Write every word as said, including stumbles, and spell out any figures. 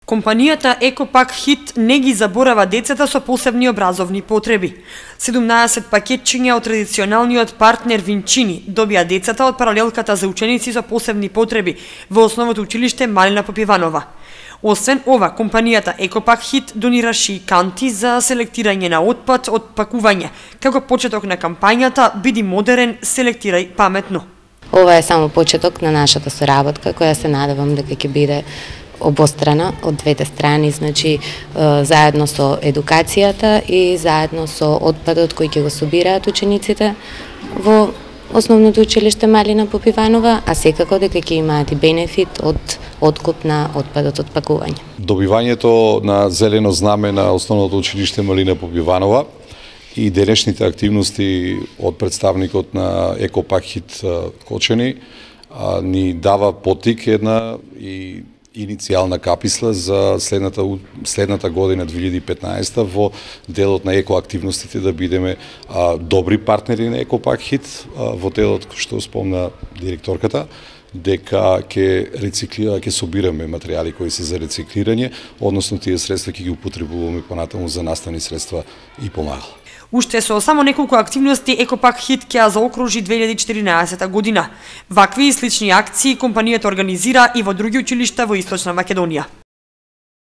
Компанијата Екопак Хит не ги заборава децата со посебни образовни потреби. седумнаесет пакетчиња од традиционалниот партнер Винчини добија децата од паралелката за ученици со посебни потреби во основното училиште Малина Попиванова. Освен ова, компанијата Екопак Хит донираше и канти за селектирање на отпад од пакување, како почеток на кампањата "Биди модерен, селектирај паметно". Ова е само почеток на нашата соработка, која се надевам дека ќе биде обострана од двете страни, значи заедно со едукацијата и заедно со отпадот кој ќе го собираат учениците во основното училиште Малина Попиванова, а секако дека ќе имаат и бенефит од откуп на отпадот од пакување. Добивањето на зелено знаме на основното училиште Малина Попиванова и денешните активности од представникот на Екопак Хит Кочани ни дава потик една и иницијална каписла за следната следната година две илјади и петнаесета во делот на екоактивностите да бидеме а, добри партнери на Екопак Хит а, во делот што спомна директорката, дека ќе рециклира, ќе собираме материјали кои се за рециклирање, односно тие средства ќе ги употребуваме понатаму за наставни средства и помагала. Уште со само неколку активности Екопак Хит ќе ја заокружи две илјади и четиринаесета година. Вакви и слични акции компанијата организира и во други училишта во Источна Македонија.